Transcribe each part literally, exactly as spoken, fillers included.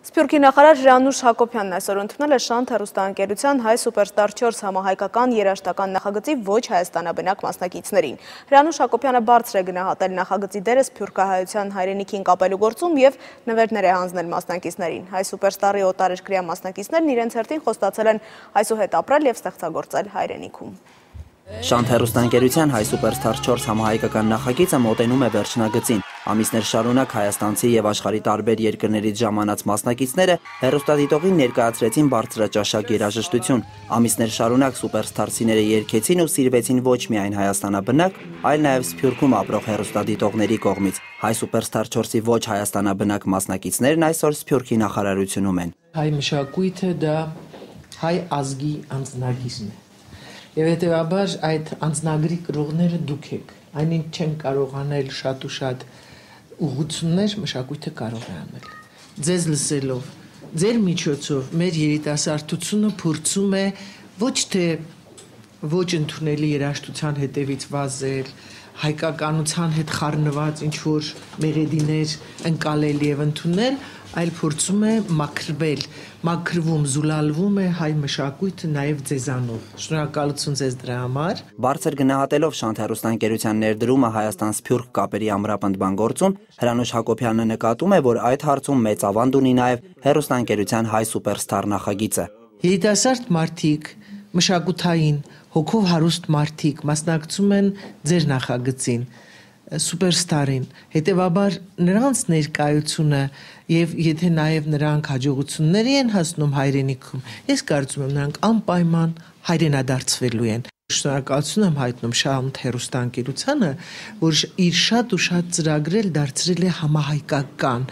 Սփյուռքի նախարար Հրանուշ Հակոբյանն այսօր ընդունել է Շանթ հեռուստաընկերության հայ սուպերստար չորս համահայկական երաժշտական նախագծի ոչ հայաստանաբնակ մասնակիցներին։ Հրանուշ Հակոբյանը բարձր է գնահատել նախագծի դերը սփյուռքահայության հայրենիքին կապելու գործում և նվերներ է հանձնել մասնակիցներին։ Հայ սուպերստարի օտարերկրյա մասնակիցներն իրենց հերթին խոստացել են այսուհետ ապրել և ստեղծագործել հայրենիքում։ Շանթ հեռուստաընկերության հայ սուպերստար չորս համահայկական նախագիծը մոտենում է վերջնագծին։ Ամիսներ շարունակ հայաստանցի և աշխարհի տարբեր երկրներից ժամանած մասնակիցները հեռուստադիտողին ներկայացրեցին բարձրաճաշակ երաժշտություն։ Ամիսներ շարունակ սուպերստարցիները երգեցին ու սիրվեցին ոչ միայն հայաստանաբնակ, այլ նաև Սփյուռքում ապրող հեռուստադիտողների կողմից։ Հայ սուպերստար չորսի ոչ հայաստանաբնակ մասնակիցներն այսօր Սփյուռքի նախարարությունում են։ Հայ մշակույթը դա հայ ազգի անձնագիծն է։ Եվ հետևաբար այդ անձնագրի կրողները դուք եք, այնինչ չեն կարող անել շատ ու շատ ուղղություններ, մշակույթը կարող է անել։ Ձեզ լսելով, ձեր միջոցով մեր երիտասարդությունը փորձում է ոչ թե ոչ ընդունելի երաժշտության հետևից վազել, հայկականության հետ խառնված ինչ-որ մեղեդիներ ընկալել և ընդունել, այլ փորձում է մաքրվել, մաքրվում, զուլալվում է հայ մշակույթը նաև ձեզանով։ Շնորհակալություն ձեզ դրա համար։ Բարձր գնահատելով Շանթ հեռուստաընկերության ներդրումը Հայաստան-Սփյուռք կապերի ամրապնդման գործում, Հրանուշ Հակոբյանը նկատում է, որ այդ հարցում մեծ ավանդ ունի նաև հեռուստաընկերության հայ սուպերստար նախագիծը։ Երիտասարդ մարդիկ, մշակութային, հոգով հարուստ մարդիկ մասնակցում են ձեր նախագծին, սուպերստարին, հետևաբար նրանց ներկայությունը և եթե նաև նրանք հաջողությունների են հասնում հայրենիքում, ես կարծում եմ նրանք անպայման հայրենադարձվելու են։ Շնորհակալություն եմ հայտնում Շանթ հեռուստաընկերությանը, որ իր շատ ու շատ ծրագրեր դարձրել է համահայկական,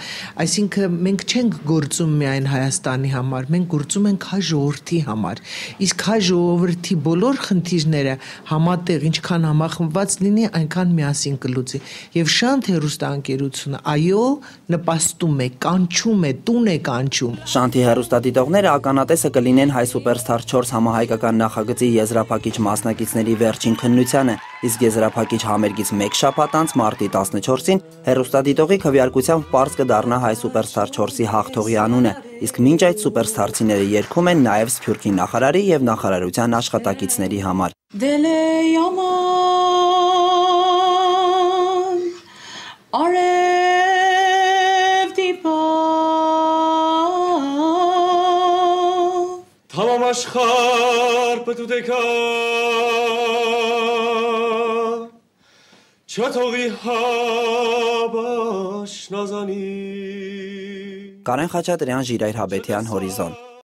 այսինքն մենք չենք գործում միայն Հայաստանի համար, մենք գործում ենք հայ ժողովրդի համար, իսկ հայ ժողովրդի բոլոր խնդիրները համատեղ ինչքան համախմբված լինի, այնքան միասին կլուծի։ Եվ Շանթ հեռուստաընկերությունը այո նպաստում է, կանչում է, տուն է կանչում։ Շանթի հեռուստադիտողները ականատեսը կլինեն հայ սուպերստար չորս համահայկական նախագծի եզրափակիչ մասնակիցների վերջին քննությանը, իսկ եզրափակիչ համերգից մեկ շաբաթ անց մարտի տասնչորսին հեռուստադիտողի քվեարկությամբ պարզ կդառնա հայ սուպերստար չորսի հաղթողի անունը, իսկ մինչ այդ սուպերստարցիները երգում են նաև Սփյուռքի նախարարի և նախարարության աշխատակիցների համար։ Tamam aşkar pıtıdeka Çatoği habaş nazani Կարեն Խաչատրյան, Ժիրայր Հաբետյան, Հորիզոն։